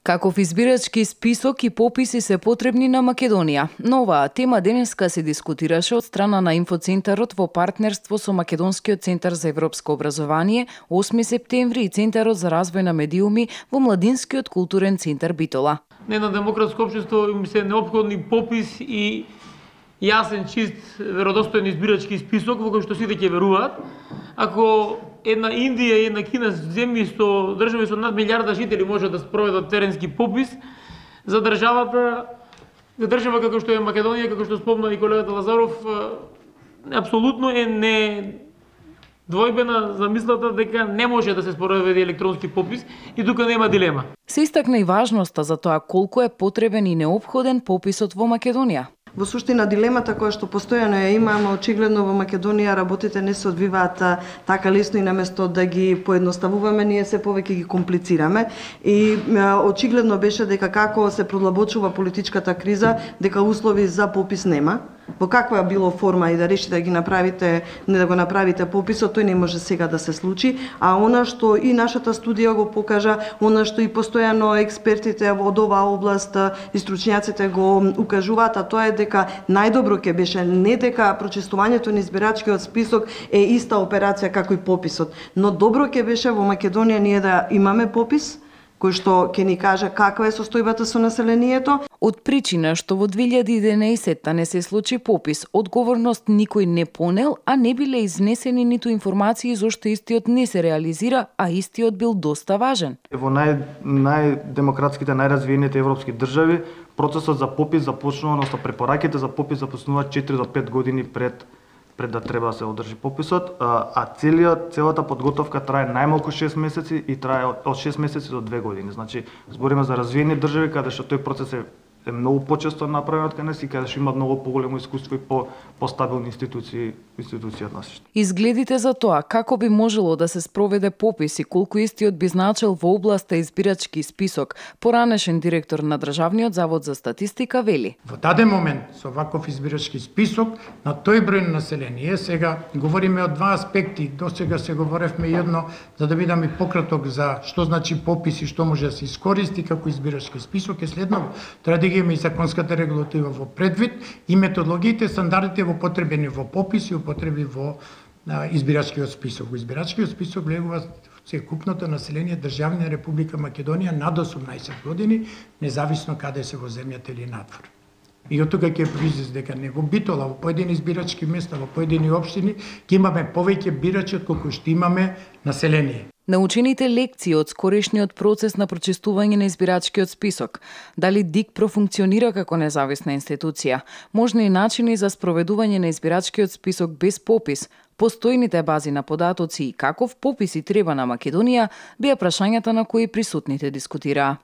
Каков избирачки список и пописи се потребни на Македонија? На оваа тема денеска се дискутираше од страна на Инфоцентарот во партнерство со Македонскиот центар за европско образование, 8 септември и Центарот за развој на медиуми во Младинскиот културен центар Битола. На едно демократско општество им се неопходни попис и јасен, чист, веродостоен избирачки список во кој што сите ќе веруваат. Ако една Индија и една Кина земји со држави со над милиарда жители може да спроведат теренски попис, за држава како што е Македонија, како што спомна и колегата Лазаров, апсолутно е недвојбена замислата дека не може да се спроведе електронски попис и тука нема дилема. Се истакна и важноста за тоа колку е потребен и неопходен пописот во Македонија. Во суштина дилемата која што постојано ја имаме, очигледно во Македонија работите не се одвиваат така лесно и наместо да ги поедноставуваме, ние се повеќе ги комплицираме. И очигледно беше дека како се продлабочува политичката криза, дека услови за попис нема. Во каква било форма и да решите да ги направите, не да го направите пописот, тој не може сега да се случи, а она што и нашата студија го покажа, она што и постојано експертите од оваа област и стручњаците го укажуваат, а тоа е дека најдобро ќе беше не дека прочистувањето на избирачкиот список е иста операција како и пописот, но добро ќе беше во Македонија ние да имаме попис кој што ќе ни каже каква е состојбата со населението. Од причина што во 2011 не се случи попис, одговорност никој не понел, а не биле изнесени ниту информации зошто истиот не се реализира, а истиот бил доста важен. Во најдемократските, најразвиените европски држави, процесот за попис започнува, односно препораките за попис започнуваат 4 до 5 години пред да треба да се одржи пописот, а целата подготовка трае најмалку 6 месеци и трае од 6 месеци до 2 години. Значи, збориме за развиени држави каде што тој процес е многу почесто направен од кај нас и каде што има многу поголемо искуство и постабилни институции од нас. Изгледите за тоа како би можело да се спроведе попис и колку истиот би значил во областа избирачки список, поранешен директор на Државниот завод за статистика вели: Во даден момент со ваков избирачки список на тој број население, сега говориме од два аспекти, досега се говоревме едно за да бидам и пократок за што значи попис и што може да се искористи како избирачки список е следно. Треба да ги имаме и законската регулатива во предвид и методологиите, стандардите во потребени во попис и употреби во избирачкиот список. Во избирачкиот список влегува секупното население државна Република Македонија над 18 години, независно каде се во земјата или надвор. И од тука ќе произлезе дека не во Битола, во поедини избирачки места, во поедини општини, ќе имаме повеќе бирачи од колку што имаме население. Научените лекции од скорешниот процес на прочистување на избирачкиот список, дали ДИК профункционира како независна институција, можни начини за спроведување на избирачкиот список без попис, постојните бази на податоци и каков попис и треба на Македонија, беа прашањата на кои присутните дискутираа.